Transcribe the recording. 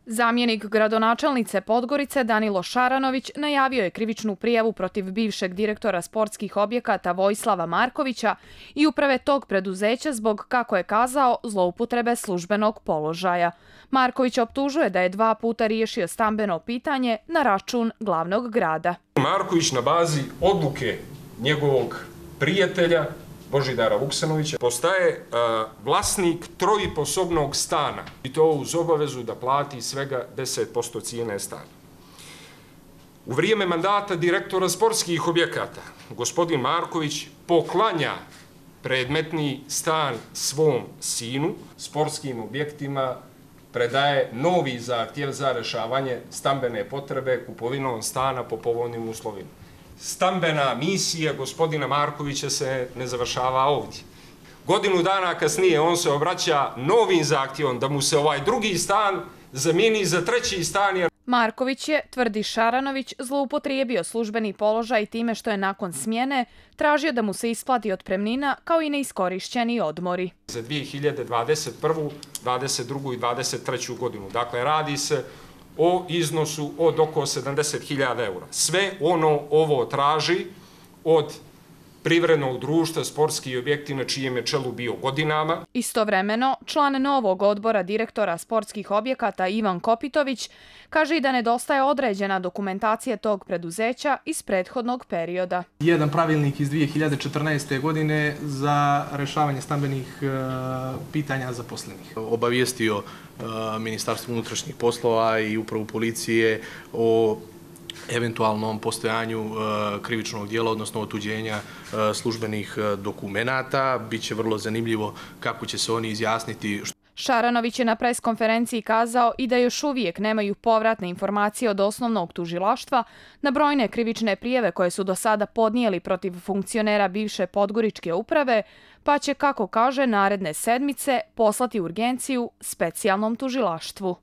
Zamjenik gradonačelnice Podgorice Danilo Šaranović najavio je krivičnu prijavu protiv bivšeg direktora sportskih objekata Vojislava Markovića i uprave tog preduzeća zbog, kako je kazao, zloupotrebe službenog položaja. Marković optužuje da je 2 puta riješio stambeno pitanje na račun glavnog grada. Marković na bazi odluke njegovog prijatelja Božidara Vuksanovića postaje vlasnik trojiposobnog stana i to uz obavezu da plati svega 10% cijene stana. U vrijeme mandata direktora sportskih objekata gospodin Marković poklanja predmetni stan svom sinu, sportskim objektima predaje novi zahtjev za rješavanje stambene potrebe kupovinom stana po povoljnim uslovima. Stambena misija gospodina Markovića se ne završava ovdje. Godinu dana kasnije on se obraća novim zahtjevom da mu se ovaj drugi stan zamijeni za treći stan. Marković je, tvrdi Šaranović, zloupotrijebio službeni položaj time što je nakon smjene tražio da mu se isplati otpremnina kao i neiskorišćeni odmori. Za 2021., 2022. i 2023. godinu. Dakle, radi se o iznosu od oko 70.000 eura. Sve ovo traži od privrednog društva sportski objekti na čijem je čelu bio godinama. Istovremeno, član novog odbora direktora sportskih objekata Ivan Kopitović kaže i da nedostaje određena dokumentacija tog preduzeća iz prethodnog perioda. Jedan pravilnik iz 2014. godine za rješavanje stambenih pitanja zaposlenih. Obavijestio Ministarstvo unutrašnjih poslova i upravu policije o eventualnom postojanju krivičnog dijela, odnosno otuđenja službenih dokumenata. Biće vrlo zanimljivo kako će se oni izjasniti. Šaranović je na preskonferenciji kazao i da još uvijek nemaju povratne informacije od osnovnog tužilaštva na brojne krivične prijave koje su do sada podnijeli protiv funkcionera bivše Podgoričke uprave, pa će, kako kaže, naredne sedmice poslati urgenciju specijalnom tužilaštvu.